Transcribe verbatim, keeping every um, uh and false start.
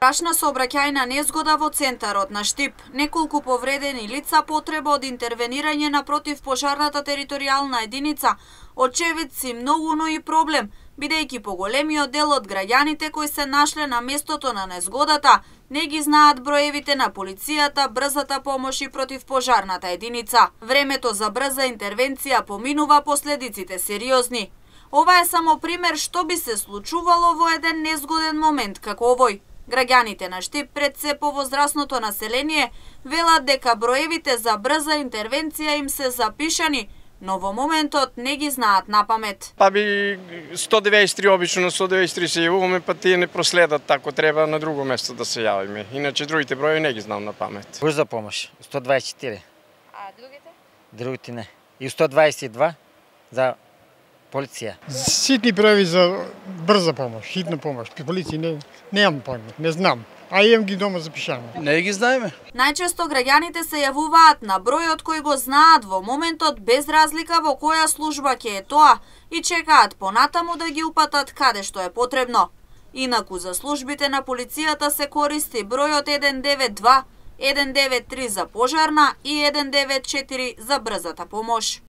Страшна сообраќајна незгода во центарот на Штип. Неколку повредени лица, потреба од интервенирање на противпожарната територијална единица, очевидци многу, но и проблем, бидејќи поголемиот дел од граѓаните кои се нашле на местото на незгодата не ги знаат броевите на полицијата, брзата помош и противпожарната единица. Времето за брза интервенција поминува, последиците сериозни. Ова е само пример што би се случувало во еден незгоден момент како овој. Граѓаните на Штип, пред се повозрасното население, велат дека броевите за брза интервенција им се запишани, но во моментот не ги знаат напамет. Па би сто деветдесет и три обично на сто деветдесет и три се јавуваме, па тие не проследат, ако треба на друго место да се јавиме. Иначе другите броеви не ги знам на памет. Брза помош, сто дваесет и четири. А другите? Другите не. И сто дваесет и два за полиција. Ситни броеви за брза помош, хитна помош. При полиција не, немам памет, не знам. А имам ги дома запишани. Не ги знаеме. Најчесто граѓаните се јавуваат на бројот кој го знаат во моментот, без разлика во која служба ќе е тоа, и чекаат понатаму да ги упатат каде што е потребно. Инаку за службите на полицијата се користи бројот еден девет два, еден девет три за пожарна и еден девет четири за брзата помош.